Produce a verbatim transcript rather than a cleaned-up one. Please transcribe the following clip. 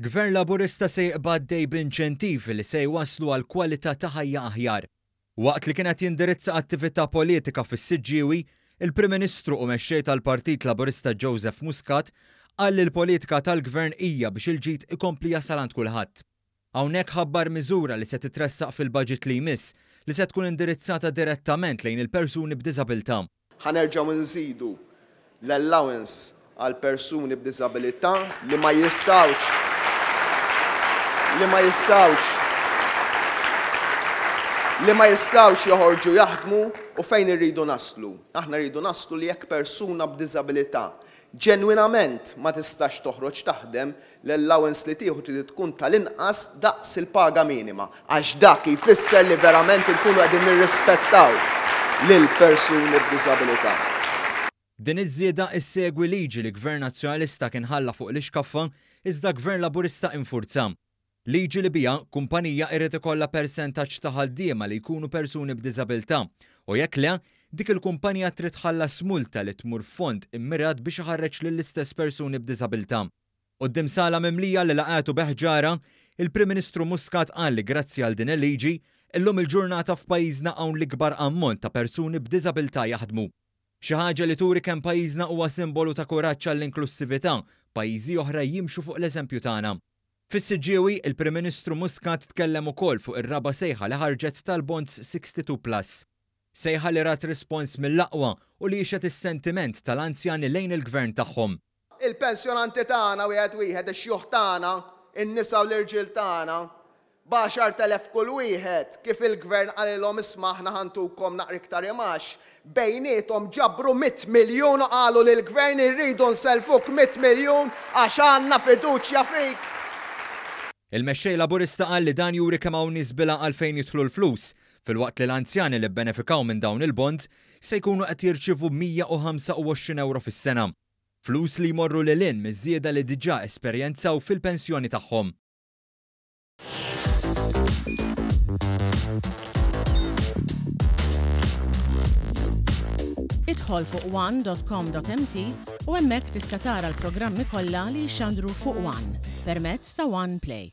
Gvern Laburista se jibqa' għaddej b'inċentivi li se jwasslu għal kwalità ta' ħajja aħjar. Waqt li kien qed jindirizza attività politika fis-Siġġiewi, il-Prim Ministru u mexxej tal-Partit Laburista Joseph Muscat qal li l-politika tal-Gvern hija biex il-ġid ikompli jasal għand kulħadd. Hawnhekk ħabbar miżura li se titressaq fil-budget li jmiss li se tkun indirizzata direttament lejn il-persuni b'diżabilità. Ħa nerġgħu nżidu l-allowance għal persuni b'diżabilità li ma jistgħux li ma jistgħux li ma jistgħux joħorġu jaħdmu. U fejn irridu naslu? Aħna rridu naslu li jekk persuna b'diżabilità ġenwinament ma tistax toħroġ taħdem, l-allowance li tieħu trid tkun tal-inqas daqs il-paga minima, għax dak jfisser li verament inkunu qegħdin nirrispettaw lil persuni b'diżabilità. Din iż-żieda issegwi liġi li Gvern Nazzjonalista kien ħalla fuq l-ixkaffa iżda Gvern Laburista infurza. Liġi li biha kumpanija irid ikollha persentaġġ ta' ħaddiema li jkunu persuni b'diżabilità u jekk le, dik il-kumpanija trid tħallas multa li tmur fond immirat biex iħarreġ lill-istess persuni b'diżabilità. Quddiem sala mimlija li laqgħetu b'ħġara, il-Prim Ministru Muscat qal li grazzi għal din il-liġi, illum il-ġurnata f'pajjiżna hawn l-ikbar ammont ta' persuni b'diżabilità jaħdmu. Xi ħaġa li turi kemm pajjiżna huwa simbolu ta' kuraġġ għall-inklussività, pajjiżi oħra jimxu fuq l-eżempju tagħna. Fis-Siġġiewi, il-Prim Ministru Muscat tkellem ukoll fuq ir-raba' sejħa li ħarġet tal-Bonds sixty-two plus. Sejħa li rat rispons mill-aqwa u li jixhed is-sentiment tal-anzjani lejn il-gvern tagħhom. Il-pensjonanti tagħna wieħed wieħed, ix-xjuħ tagħna, in-nisa u l-irġiel tagħna, b'għaxart elef kull wieħed, kif il-gvern qalilhom isma' aħna ħantukom naqra iktar imax, bejniethom ġabru mitt miljun u qalu lill-gvern irridu nsellfuk mitt miljun għax għandna fiduċja fik. Il-mexxej Laburista qal li dan juri kemm hawn nies bila għalfejn jidħlu l-flus, filwaqt li l-anzjani li bbenefikaw minn dawn il-bonds se jkunu qed jirċievu mija u ħamsa u għoxrin euro fis-sena. Flus li jmorru lil hinn miż-żieda li diġà esperjenzaw fil-pensjoni tagħhom. Idħol fuq one dot com dot M T u hemmhekk tista' tara l-programmi kollha li jxandru fuq One permezz ta' One Play.